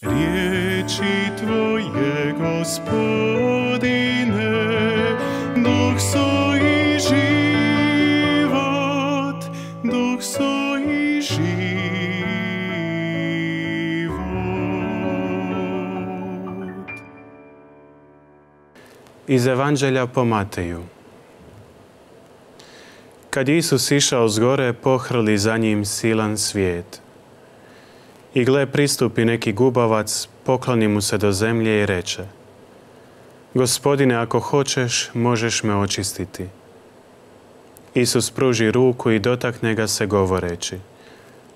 Riječi Tvoje, Gospodine, duh su i život, duh su i život. Iz Evanđelja po Mateju. Kad je Isus išao s gore, pohrli za njim silan svijet. I gle, pristupi neki gubavac, pokloni mu se do zemlje i reče: Gospodine, ako hoćeš, možeš me očistiti. Isus pruži ruku i dotakne ga se govoreći: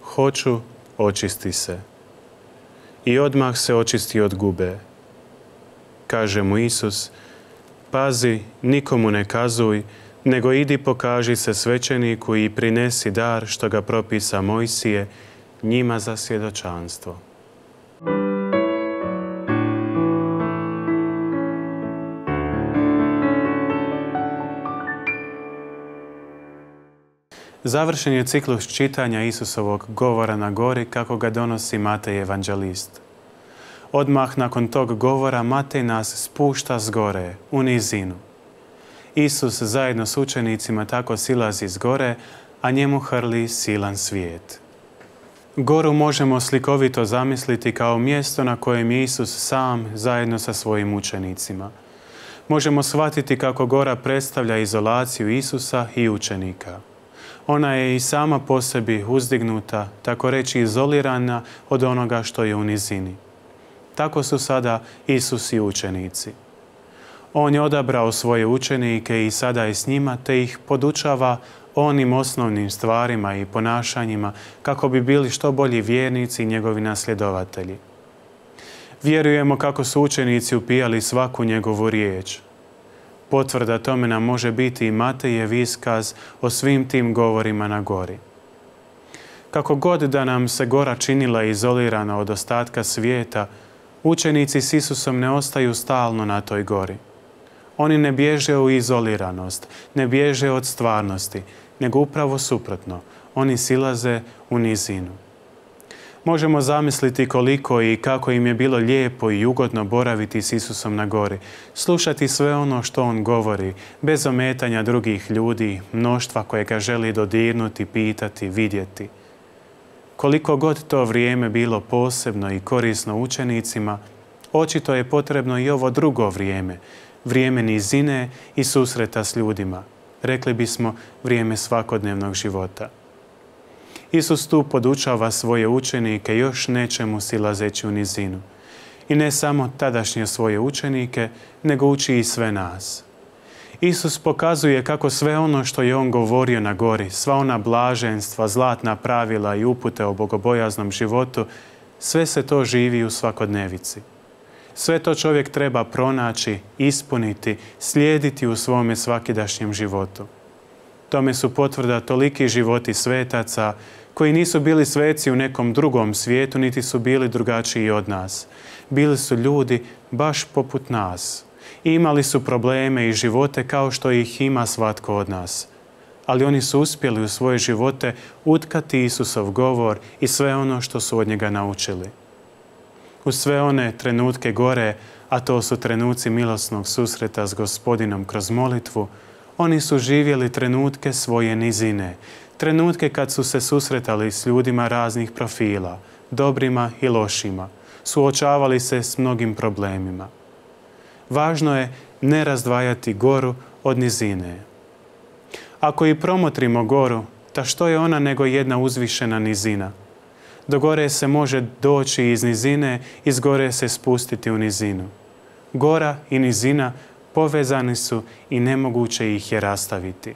Hoću, očisti se. I odmah se očisti od gube. Kaže mu Isus: Pazi, nikomu ne kazuj, nego idi pokaži se svećeniku i prinesi dar što ga propisa Mojsije, njima za svjedočanstvo. Završen je ciklus čitanja Isusovog govora na gori kako ga donosi Matej evanđelist. Odmah nakon tog govora Matej nas spušta s gore, u nizinu. Isus zajedno s učenicima tako silazi s gore, a njemu hrli silan svijet. Goru možemo slikovito zamisliti kao mjesto na kojem je Isus sam zajedno sa svojim učenicima. Možemo shvatiti kako gora predstavlja izolaciju Isusa i učenika. Ona je i sama po sebi uzdignuta, tako reći izolirana od onoga što je u nizini. Tako su sada Isus i učenici. On je odabrao svoje učenike i sada je s njima, te ih podučava onim osnovnim stvarima i ponašanjima kako bi bili što bolji vjernici i njegovi nasljedovatelji. Vjerujemo kako su učenici upijali svaku njegovu riječ. Potvrda tome nam može biti i Matejev iskaz o svim tim govorima na gori. Kako god da nam se gora činila izolirana od ostatka svijeta, učenici s Isusom ne ostaju stalno na toj gori. Oni ne bježe u izoliranost, ne bježe od stvarnosti, nego upravo suprotno. Oni silaze u nizinu. Možemo zamisliti koliko i kako im je bilo lijepo i ugodno boraviti s Isusom na gori, slušati sve ono što on govori, bez ometanja drugih ljudi, mnoštva koje ga želi dodirnuti, pitati, vidjeti. Koliko god to vrijeme bilo posebno i korisno učenicima, očito je potrebno i ovo drugo vrijeme, vrijeme nizine i susreta s ljudima. Rekli bismo, vrijeme svakodnevnog života. Isus tu podučava svoje učenike još nečemu silazeći u nizinu. I ne samo tadašnje svoje učenike, nego uči i sve nas. Isus pokazuje kako sve ono što je on govorio na gori, sva ona blaženstva, zlatna pravila i upute o bogobojaznom životu, sve se to živi u svakodnevici. Sve to čovjek treba pronaći, ispuniti, slijediti u svome svakidašnjem životu. Tome su potvrda toliki životi svetaca koji nisu bili sveci u nekom drugom svijetu, niti su bili drugačiji od nas. Bili su ljudi baš poput nas. Imali su probleme i živote kao što ih ima svatko od nas. Ali oni su uspjeli u svoje živote utkati Isusov govor i sve ono što su od njega naučili. U sve one trenutke gore, a to su trenuci milosnog susreta s Gospodinom kroz molitvu, oni su živjeli trenutke svoje nizine, trenutke kad su se susretali s ljudima raznih profila, dobrima i lošima, suočavali se s mnogim problemima. Važno je ne razdvajati goru od nizine. Ako i promotrimo goru, ta što je ona nego jedna uzvišena nizina? Do gore se može doći iz nizine, iz gore se spustiti u nizinu. Gora i nizina povezani su i nemoguće ih je rastaviti.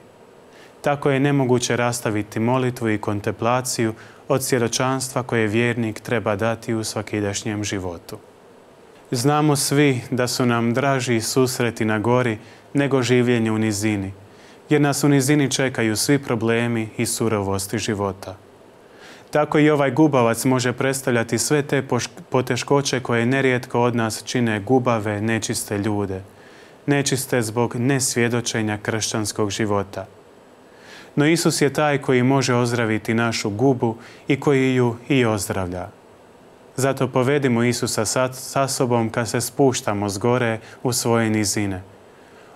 Tako je nemoguće rastaviti molitvu i kontemplaciju od svjedočanstva koje vjernik treba dati u svakidašnjem životu. Znamo svi da su nam draži susreti na gori nego življenje u nizini, jer nas u nizini čekaju svi problemi i surovosti života. Tako i ovaj gubavac može predstavljati sve te poteškoće koje nerijetko od nas čine gubave, nečiste ljude. Nečiste zbog nesvjedočenja kršćanskog života. No Isus je taj koji može ozdraviti našu gubu i koji ju i ozdravlja. Zato povedimo Isusa sa sobom kad se spuštamo s gore u svoje nizine.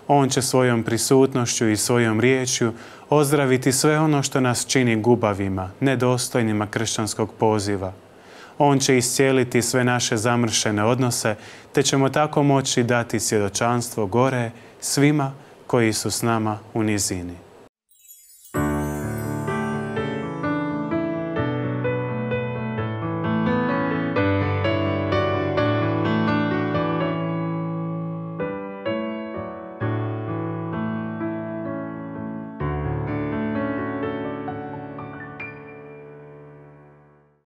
On će svojom prisutnošću i svojom riječju ozdraviti sve ono što nas čini gubavima, nedostojnima kršćanskog poziva. On će iscijeliti sve naše zamršene odnose, te ćemo tako moći dati svjedočanstvo gore svima koji su s nama u nizini.